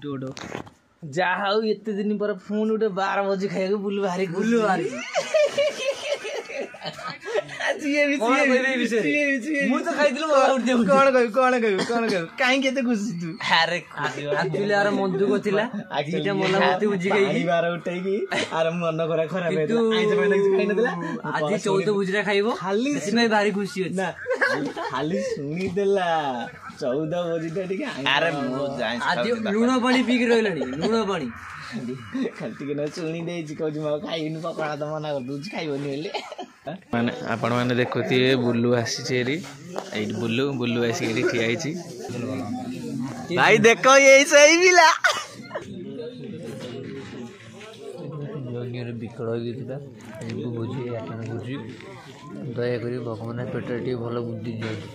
Dodo. ଯାହା ହଉ, ଏତେ ଦିନ ପରେ ପୁଣି ଗୋଟେ 12 ଭୋଜି ଖାଇବାକୁ ବୁଲୁ ଭାରି, ବୁଲୁ ଭାରି। ସିଏ ବି କଣ କହିବି ଏ ବିଷୟରେ? ସିଏ ବି, ସିଏ ବି। ମୁଁ ତ ଖାଇଥିଲି, ମୋ ଆଉ ଉଠି କଣ କହିବୁ, କଣ କହିବୁ, କଣ କହିବୁ? କାହିଁକି ଏତେ ଖୁସି ତୁ? ଆରେ, ଆକ୍ଚୁଆଲି ଆର ମନ ଦୁଃଖ ଥିଲା, ଦିଟା ମଲା ମୂର୍ତ୍ତି ବୁଝି ପାଣି ଖାଇକି ବାର ଉଠେଇକି ଆର ମନ ଖରା ଖରାପ କିନ୍ତୁ ହେଇଥିଲା, ଆଇଁଷ ଫାଇଁଷ କିଛି ଖାଇନଥିଲା। ଆଜି 14 ଭୋଜିଟା ଖାଇବ, ଖାଲି ସେଥିପାଇଁ ଭାରି ଖୁସି ଅଛି। ନା, ଖାଲି ଶୁଣିଦେଲା 14 ଭୋଜିଟା ଟିକେ ଆଇଁଷ। ଆରେ, ମୁଁ ଆଜି ଲୁଣ ପାଣି ପିଇକି ରହିଲାଣି, ଲୁଣ ପାଣି ଖାଲି ଟିକେ ନା ଶୁଣି ଦେଇଛି, କହୁଛି ମୁଁ ଆଉ ଖାଇବିନି। ପକୋଡ଼ା ତ ମନା କରିଦଉଛି ଖାଇବନି ବୋଲି। ମାନେ ଆପଣମାନେ ଦେଖୁଥିବେ, ବୁଲୁ ଆସିଛି ଏଠି। ଏଇଠି ବୁଲୁ, ବୁଲୁ ଆସିକି ଏଠି ଠିଆ ହେଇଛି। ଭାଇ ଦେଖ, ଏଇ ସେଇ ପିଲା। ଯଜ୍ଞରେ ବିକଳ ହେଇକି ଥିଲା। ଯିବୁ ଭୋଜି ଆଟେଣ୍ଡ କରୁଛି। ଦୟାକରି ଭଗବାନ ପେଟରେ ଟିକେ ଭଲ ବୁଦ୍ଧି ଦିଅନ୍ତୁ।